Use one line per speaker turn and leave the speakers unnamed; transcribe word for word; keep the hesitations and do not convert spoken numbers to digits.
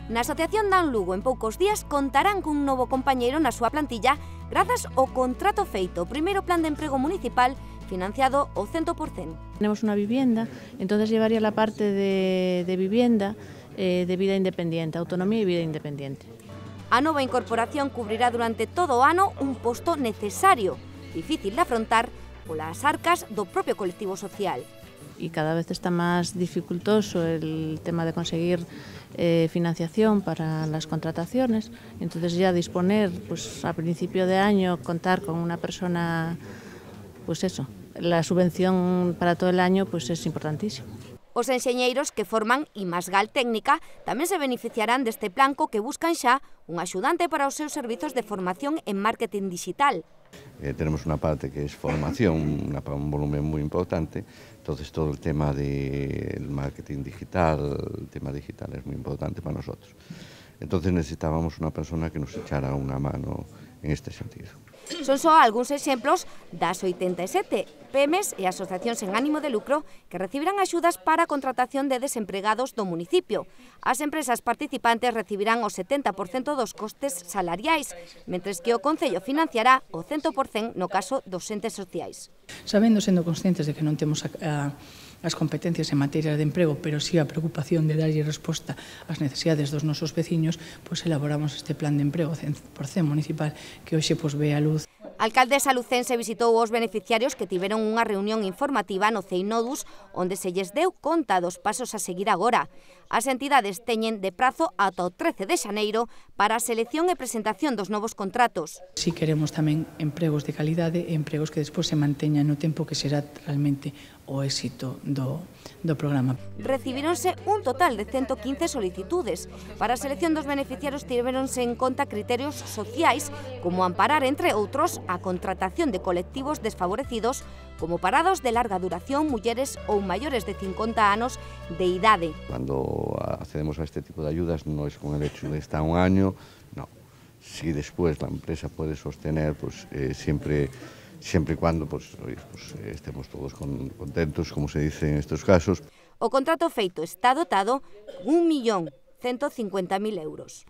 Na Asociación Dan Lugo en poucos días contarán cun novo compañeiro na súa plantilla grazas ao contrato feito, o primeiro plan de emprego municipal financiado ao cento por cento.
Tenemos una vivienda, entonces llevaría la parte de, de vivienda, eh, de vida independiente, autonomía y vida independiente.
A nova incorporación cubrirá durante todo o ano un posto necesario, difícil de afrontar polas arcas do propio colectivo social.
Y cada vez está más dificultoso el tema de conseguir eh, financiación para las contrataciones. Entonces ya disponer, pues a principio de año, contar con una persona, pues eso, la subvención para todo el año pues es importantísimo.
Os enxeñeiros que forman Imasgal Técnica tamén se beneficiarán deste plan co que buscan xa un axudante para os seus servizos de formación en marketing digital.
Eh, tenemos una parte que es formación, una, un volumen muy importante, entonces todo el tema del marketing digital, el tema digital es muy importante para nosotros. Entonces necesitábamos una persona que nos echara una mano en este sentido.
Son só algúns exemplos das oitenta e sete P M Es e asociacións sen ánimo de lucro que recibirán axudas para a contratación de desempregados do municipio. As empresas participantes recibirán o setenta por cento dos costes salariais, mentres que o Concello financiará o cento por cento no caso dos entes sociais.
Sabendo, sendo conscientes de que non temos a, a as competencias en materia de emprego, pero sí a preocupación de darlle resposta ás necesidades dos nosos veciños, pois elaboramos este plan de emprego cen por cento municipal que hoxe pois ve a luz.
A alcaldesa lucense visitou os beneficiarios que tiveron unha reunión informativa no CEINODUS onde se lles deu conta dos pasos a seguir agora. As entidades teñen de prazo ata o trece de xaneiro para a selección e presentación dos novos contratos.
Si queremos tamén empregos de calidade e empregos que despois se manteñan no tempo que será realmente o éxito do, do programa.
Recibíronse un total de ciento quince solicitudes. Para a selección dos beneficiarios tiveronse en conta criterios sociais como amparar, entre outros, a contratación de colectivos desfavorecidos como parados de larga duración, mulleres ou maiores de cincuenta anos de idade.
Cuando accedemos a este tipo de ayudas no es con el hecho de estar un año, no. Si después la empresa puede sostener, pues eh, siempre... siempre y cuando pues, oye, pues, estemos todos con, contentos, como se dice en estos casos.
O contrato feito está dotado un millón ciento cincuenta mil euros.